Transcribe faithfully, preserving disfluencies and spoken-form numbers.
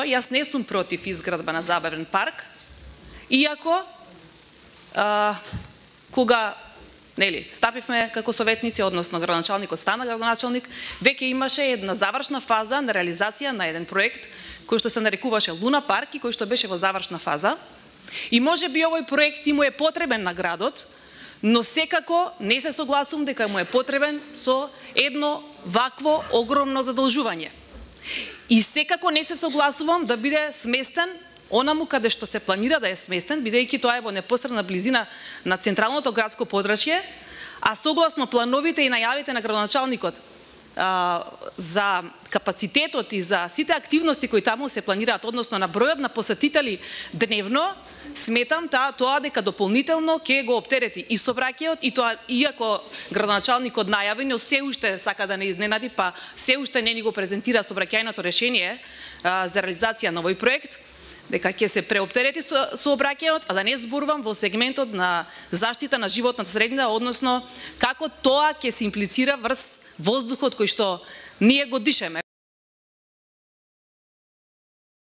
Јас не сум против изградба на забавен парк, иако а, кога нели стапивме како советници, односно градоначалникот стана градоначалник, веќе имаше една завршна фаза на реализација на еден проект кој што се нарекуваше Луна парк и кој што беше во завршна фаза. И може би овој проект и му е потребен на градот, но секако не се согласувам дека му е потребен со едно вакво огромно задолжување. И секако не се согласувам да биде сместен онаму каде што се планира да е сместен, бидејќи тоа е во непосредна близина на централното градско подрачје, а согласно плановите и најавите на градоначалникот а, за капацитетот и за сите активности кои таму се планираат, односно на бројот на посетители дневно, сметам таа тоа дека дополнително ќе го оптерети и сообраќајот, и тоа иако градоначалникот најави, но се уште сака да не изненади, па се уште не ни го презентира сообраќајното решение а, за реализација на овој проект, дека ќе се преоптерети со сообраќајот, а да не зборувам во сегментот на заштита на животната средина, односно како тоа ќе се имплицира врз воздухот кој што ние го дишеме.